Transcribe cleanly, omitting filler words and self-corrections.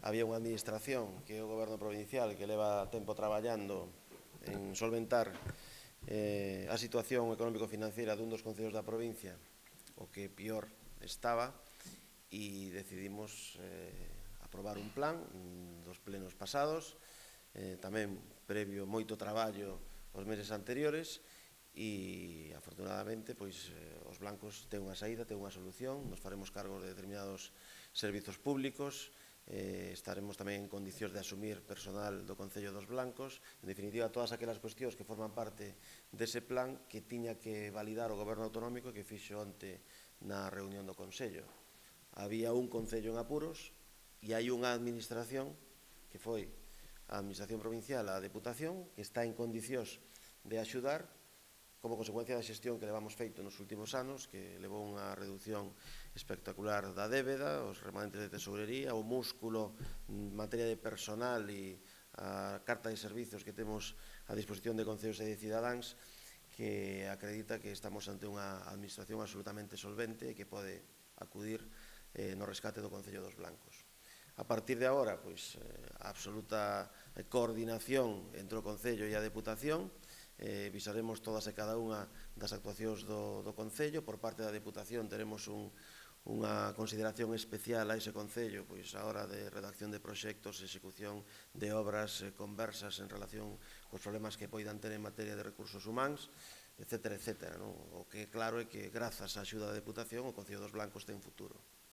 había unha administración que é o Goberno Provincial que leva tempo traballando en solventar a situación económico-financiera dun dos concellos da provincia, o que pior estaba, e decidimos aprobar un plan dos plenos pasados, tamén previo moito traballo os meses anteriores, e afortunadamente os blancos ten unha saída, ten unha solución. Nos faremos cargo de determinados servizos públicos, estaremos tamén en condicións de asumir personal do Concello dos Blancos. En definitiva, todas aquelas cuestións que forman parte dese plan que tiña que validar o Goberno Autonómico que fixo onte na reunión do Concello. Había un Concello en apuros e hai unha administración que foi a Administración Provincial, a Deputación, que está en condicións de axudar como consecuencia da xestión que levamos feito nos últimos anos, que levou unha reducción espectacular da débeda, os remanentes de tesourería, o músculo en materia de personal e a carta de servizos que temos a disposición de concellos e de cidadáns, que acredita que estamos ante unha administración absolutamente solvente e que pode acudir no rescate do Concello dos Blancos. A partir de agora, a absoluta coordinación entre o Concello e a Deputación. Visaremos todas e cada unha das actuacións do Concello. Por parte da Deputación teremos unha consideración especial a ese Concello a hora de redacción de proxectos, execución de obras, conversas en relación cos problemas que poidan ter en materia de recursos humanos, etcétera, etcétera. O que é claro é que, grazas á axuda da Deputación, o Concello dos Blancos ten futuro.